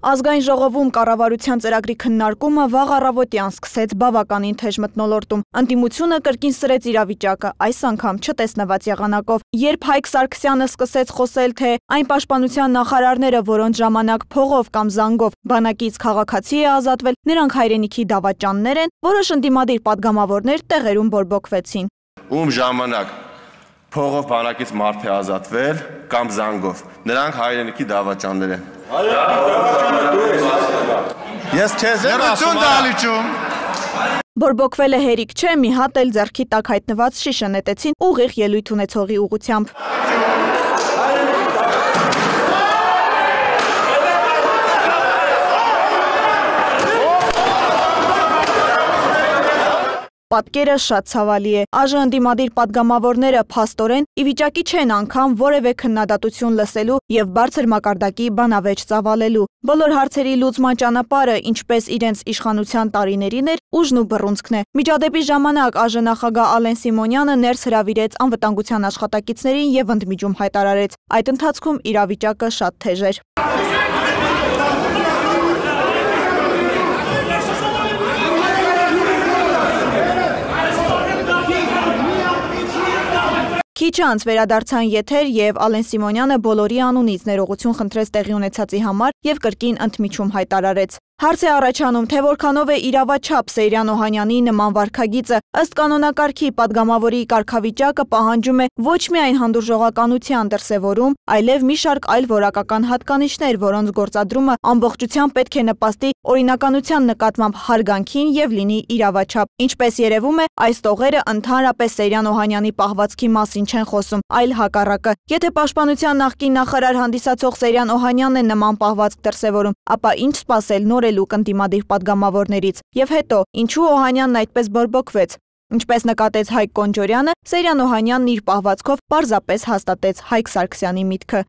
Ազգային ժողովում կառավարության ծրագրի քննարկումը վաղ առավոտյան սկսեց բավականին թեժ մթնոլորտում։ Ընդդիմությունը կրկին սրեց իրավիճակը, այս անգամ չտեսնված եղանակով։ Երբ Հայկ Սարգսյանը սկսեց խոսել, թե այն պաշտպանության նախարարները, որոնց ժամանակ փողով կամ զանգով բանակից քաղաքացի է ազատվել, նրանք հայրենիքի դավաճաններ են, որոշ ընդդիմադիր պատգամավորներ տեղերում բորբոքվեցին։ Ում ժամանակ փողով բանակից մարդ է ազատվել կամ զանգով, նրանք հայրենիքի դավաճաններ են։ Ես քեզ եմ ասում, բորբոքվելը հերիք չէ, մի հատ էլ ձեռքի տակ հայտնված շիշը նետեցին ուղիղ ելույթ ունեցողի ուղղությամբ։ Պատկերը շատ ցավալի է։ Այժմ ընդդիմադիր պատգամավորները փաստորեն ի վիճակի չեն անգամ որևէ քննադատություն լսելու եւ բարձր մակարդակի բանավեճ ծավալելու։ Բոլոր հարցերի լուծման ճանապարհը, ինչպես իրենց իշխանության տարիներին էր, ուժն ու բռունցքն է։ Միջադեպի ժամանակ ԱԺ նախագահ Ալեն Սիմոնյանը ներս հրավիրեց անվտանգության աշխատակիցներին եւ ընդմիջում հայտարարեց։ Այդ ընթացքում իրավիճակը շատ թեժ էր։ Քիչ անց վերադարձան եթեր եւ Ալեն Սիմոնյանը բոլորի անունից ներողություն խնդրեց տեղի ունեցածի համար եւ կրկին ընդմիջում հայտարարեց։ Հարց է առաջանում, թե որքանով է իրավաչափ Սեյրան Օհանյանի նման վարքագիծը։ Ըստ կանոնակարգի պատգամավորի կարգավիճակը պահանջում է ոչ միայն հանդուրժողականության դրսևորում, այլև մի շարք այլ որակական հատկանիշներ, որոնց գործադրումը ամբողջությամբ պետք է նպաստի օրինականության նկատմամբ հարգանքին եւ լինի իրավաչափ։ Ինչպես երևում է, այս տողերը ընդհանրապես Սեյրան Օհանյանի պահվածքի մասին չեն խոսում, այլ հակառակը։ Եթե պաշտպանության նախկին նախարար հանդիսացող Սեյրան Օհանյանն է նման պահվածք դրսևորում, ապա ինչ սպասել նորելուկ ընդդիմադիր պատգամավորներից։ Եվ հետո, ինչու Օհանյանն այդպես բորբոքվեց։ Ինչպես նկատեց Հայկ Կոնջորյանը, Սեյրան Օհանյանն իր պահվածքով պարզապես հաստատեց Հայկ Սարգսյանի միտքը։